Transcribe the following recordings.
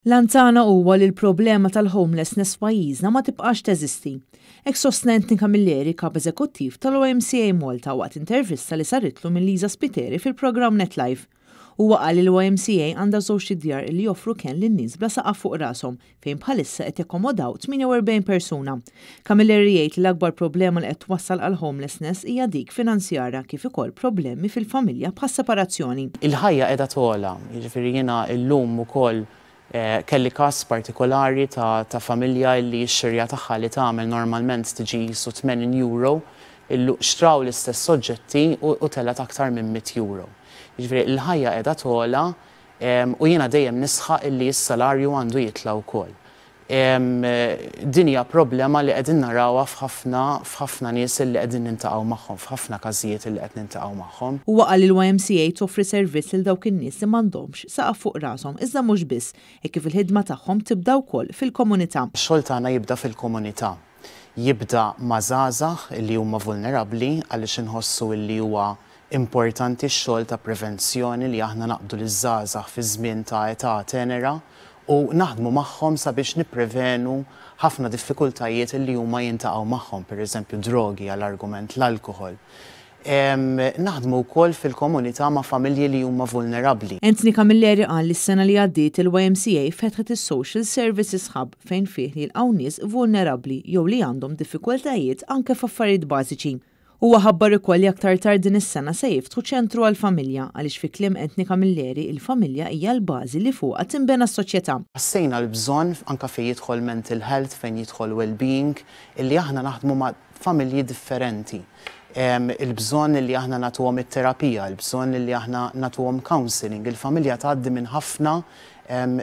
L-għan tagħna huwa li l-problema tal-homelessness f'pajjiżna ma tibqax teżisti. Hekk sostna Anthony Camilleri, Kap Eżekuttiv tal-YMCA Malta waqt intervista li saritlu minn Lisa Spiteri fil-programm Net Live. Huwa qal li l-YMCA għandha żewġt idjar li joffru kenn lin-nies bla saqaf fuq rashom fejn bħalissa qed jakkomodaw 48 persuna. Camilleri jgħid li l-akbar problema li qed twassal għal homelessness hija dik finanzjarja kif ukoll problemi fil-familja bħas-separazzjoni. Il-ħajja qiegħda togħla, jiġifieri jiena llum ukoll kelli każ partikolari ta' ta' familja illi x-xirja tagħha li tagħmel normalment tiġi qisu 80 euro, illu xtraw l-istess oġġetti u u telgħet aktar minn 100 euro. Jiġifieri l-ħajja qiegħda togħla u jiena dejjem nisħaq illi s-salarju għandu jitla' wkoll. Din hija problema li qegħdin narawha f'ħafna f'ħafna nies illi qegħdin niltaqgħu magħhom, f'ħafna każijiet illi qed niltaqgħu magħhom. Huwa qal li l-YMCA toffri servizz lil dawk in-nies li m'għandhomx saqaf fuq rashom iżda mhux biss, hekk kif il-ħidma tagħhom tibda wkoll fil-komunità. Ix-xogħol tagħna jibda fil-komunità. Jibda ma' żgħażagħ illi huma vulnerabbli għaliex inħossu illi huwa importanti x-xogħol ta' prevenzjoni li aħna naqbdu liż-żgħażagħ fi żmien ta' età tenera u naħdmu magħhom sabiex nipprevenu ħafna diffikultajiet li huma jiltaqgħu magħhom, pereżempju drogi għal argument l-alkoħol. Naħdmu wkoll fil-komunità ma' familji li huma vulnerabbli. Anthony Camilleri qal li s-sena li għaddiet il-YMCA fetħet is-Social Services Hub fejn fih jilqgħu nies vulnerabbli jew li għandhom diffikultajiet anke f'affarijiet bażiċi. Huwa ħabbar ukoll li aktar tard din is-sena se jiftħu ċentru għall-familja għaliex fi kliem Anthony Camilleri il-familja hija l-bażi li fuqha tinbena s-soċjetà. Ħassejna l-bżonn anke fejn jidħol mental health, fejn jidħol well-being, illi aħna naħdmu ma' familji differenti. Il-bżonn illi aħna nagħtuhom it-terapija, il-bżonn illi aħna nagħtuhom counselling, il-familja tgħaddi minn ħafna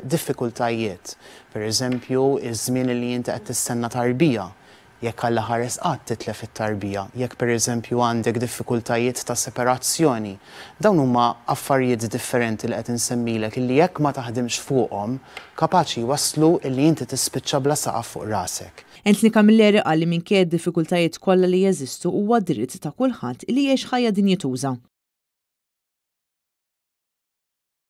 diffikultajiet. Per eżempju, iż-żmien illi inti qed tistenna tarbija, jekk Alla ħares qatt titlef it-tarbija, jekk pereżempju għandek diffikultajiet ta' separazzjoni. Dawn huma affarijiet differenti li qed insemmilek illi jekk ma taħdimx fuqhom, kapaċi jwasslu illi inti tispiċċa bla saqaf fuq rasek. Anthony Camilleri qal li minkejja d-diffikultajiet kollha li jeżistu huwa dritt ta' kulħadd li jgħix ħajja dinjituża.